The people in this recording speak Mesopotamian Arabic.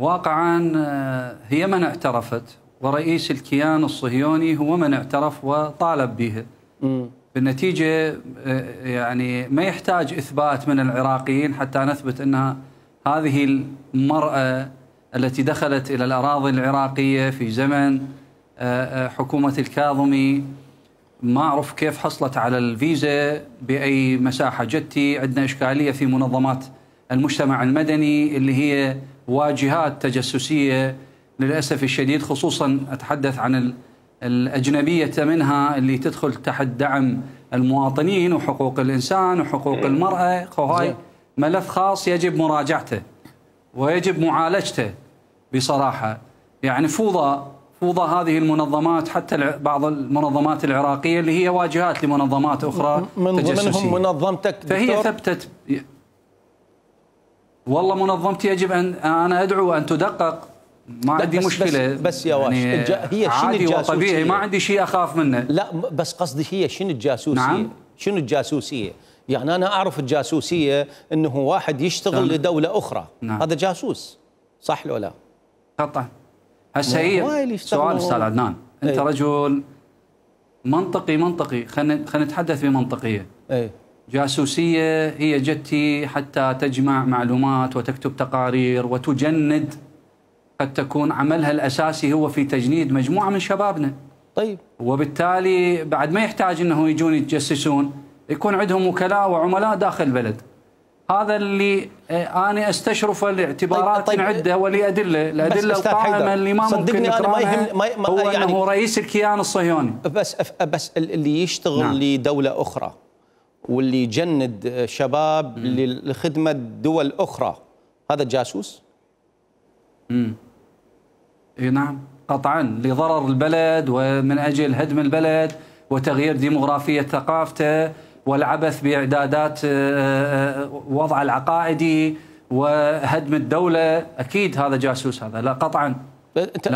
واقعا هي من اعترفت، ورئيس الكيان الصهيوني هو من اعترف وطالب بها. بالنتيجة يعني ما يحتاج إثبات من العراقيين حتى نثبت أنها هذه المرأة التي دخلت إلى الأراضي العراقية في زمن حكومة الكاظمي، ما أعرف كيف حصلت على الفيزا بأي مساحة. جتي عندنا إشكالية في منظمات المجتمع المدني اللي هي واجهات تجسسية للأسف الشديد، خصوصا أتحدث عن الأجنبية منها اللي تدخل تحت دعم المواطنين وحقوق الإنسان وحقوق المرأة. وهاي ملف خاص يجب مراجعته ويجب معالجته بصراحة. يعني فوضى هذه المنظمات، حتى بعض المنظمات العراقية اللي هي واجهات لمنظمات أخرى من تجسسية. ضمنهم منظمتك فهي ثبتت. والله منظمتي يجب أنا أدعو أن تدقق، ما عندي مشكلة. بس يا واش يعني هي شنو عادي الجاسوسية؟ وطبيعي، ما عندي شيء أخاف منه. لا بس قصدي هي شنو الجاسوسية؟ نعم؟ شنو الجاسوسية؟ يعني أنا أعرف الجاسوسية أنه واحد يشتغل لدولة أخرى. نعم. هذا جاسوس، صح لو لا؟ قطعا. هسه هي سؤال أستاذ عدنان، أنت رجل منطقي، خلينا نتحدث بمنطقية. جاسوسية هي جتي حتى تجمع معلومات وتكتب تقارير وتجند، قد تكون عملها الأساسي هو في تجنيد مجموعة من شبابنا. طيب، وبالتالي بعد ما يحتاج أنه يجون يتجسسون، يكون عندهم وكلاء وعملاء داخل البلد. هذا اللي أنا أستشرفه لاعتبارات عدة ولأدلة. الأدلة القائمة اللي ما ممكن نكررها هو يعني أنه رئيس الكيان الصهيوني. بس اللي يشتغل نعم. لدولة أخرى واللي يجند شباب لخدمة دول أخرى، هذا جاسوس؟ نعم قطعا، لضرر البلد ومن أجل هدم البلد وتغيير ديموغرافية ثقافته والعبث بإعدادات وضع العقائدي وهدم الدولة. أكيد هذا جاسوس، هذا لا قطعا. لكن